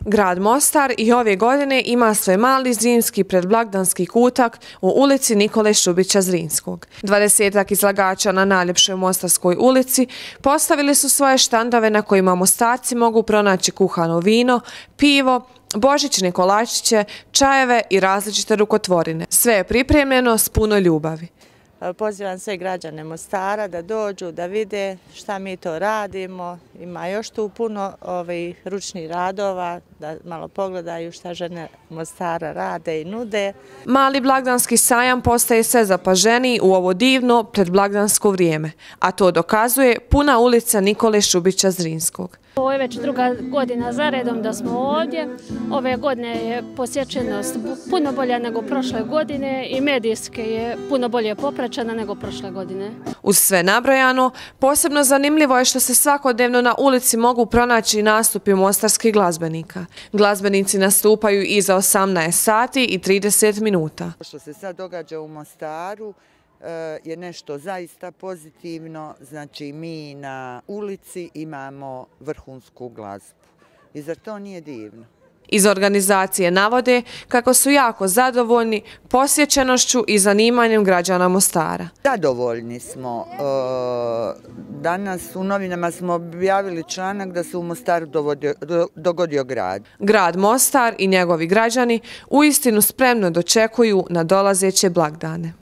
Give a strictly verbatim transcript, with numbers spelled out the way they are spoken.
Grad Mostar i ove godine ima svoj mali zimski predblagdanski kutak u ulici Nikole Šubića Zrinskog. Dvadesetak izlagača na najljepšoj Mostarskoj ulici postavili su svoje štandove na kojima Mostarci mogu pronaći kuhano vino, pivo, božićne kolačiće, čajeve i različite rukotvorine. Sve je pripremljeno s puno ljubavi. Pozivam sve građane Mostara da dođu, da vide šta mi to radimo. Ima još tu puno ovih ručnih radova, da malo pogledaju šta žene Mostara rade i nude. Mali blagdanski sajam postaje sve zapaženiji u ovo divno predblagdansko vrijeme, a to dokazuje puna ulica Nikole Šubića Zrinskog. Ovo je već druga godina zaredom da smo ovdje. Ove godine je posjećenost puno bolja nego prošle godine i medijski je puno bolje popraćena nego prošle godine. Uz sve nabrojano, posebno zanimljivo je što se svakodnevno na ulici mogu pronaći nastupi mostarskih glazbenika. Glazbenici nastupaju iza osamnaest sati i trideset minuta. Što se sad događa u Mostaru je nešto zaista pozitivno, znači mi na ulici imamo vrhunsku glazbu i zar to nije divno? Iz organizacije navode kako su jako zadovoljni posjećenošću i zanimanjem građana Mostara. Zadovoljni smo. Danas u novinama smo objavili članak da se u Mostaru dogodio grad. Grad Mostar i njegovi građani uistinu spremno dočekuju na dolazeće blagdane.